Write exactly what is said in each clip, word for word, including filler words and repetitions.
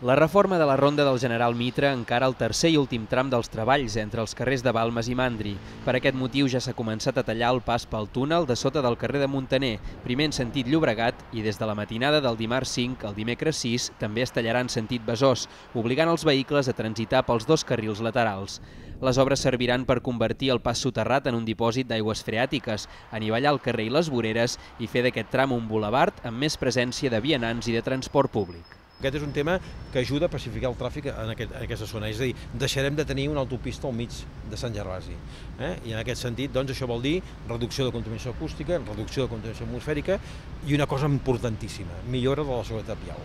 La reforma de la Ronda del General Mitre encara el tercer i últim tram dels treballs entre els carrers de Balmes i Mandri. Per aquest motiu ja s'ha començat a tallar el pas pel túnel de sota del carrer de Muntaner, primer en sentit Llobregat i des de la matinada del dimarts cinc al dimecres sis també es tallarà en sentit Besòs, obligant els vehicles a transitar pels dos carrils laterals. Les obres serviran per convertir el pas soterrat en un dipòsit d'aigües freàtiques, anivellar el carrer i les voreres i fer d'aquest tram un bulevard amb més presència de vianants i de transport públic. Aquest és un tema que ajuda a pacificar el tràfic en, aquest, en aquesta zona, és a dir, deixarem de tenir una autopista al mig de Sant Gervasi. Eh? I en aquest sentit, doncs, això vol dir reducció de contaminació acústica, reducció de contaminació atmosfèrica i una cosa importantíssima, millora de la seguretat vial.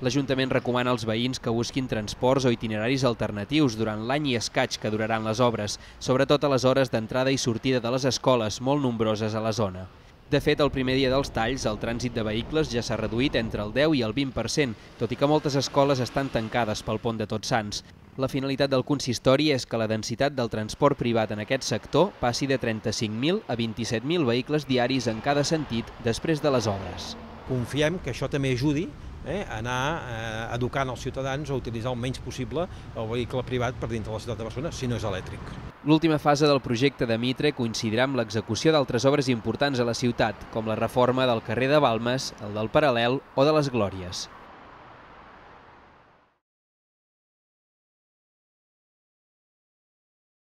L'Ajuntament recomana als veïns que busquin transports o itineraris alternatius durant l'any i escaig que duraran les obres, sobretot a les hores d'entrada i sortida de les escoles, molt nombroses a la zona. De fet, el primer dia dels talls, el trànsit de vehicles ja s'ha reduït entre el deu i el vint per cent, tot i que moltes escoles estan tancades pel pont de Tots Sants. La finalitat del consistori és que la densitat del transport privat en aquest sector passi de trenta-cinc mil a vint-i-set mil vehicles diaris en cada sentit després de les obres. Confiem que això també ajudi eh, a anar eh, educant els ciutadans a utilitzar el menys possible el vehicle privat per dintre de la ciutat de Barcelona, si no és elèctric. L'última fase del projecte de Mitre coincidirà amb l'execució d'altres obres importants a la ciutat, com la reforma del carrer de Balmes, el del Paral·lel o de les Glòries.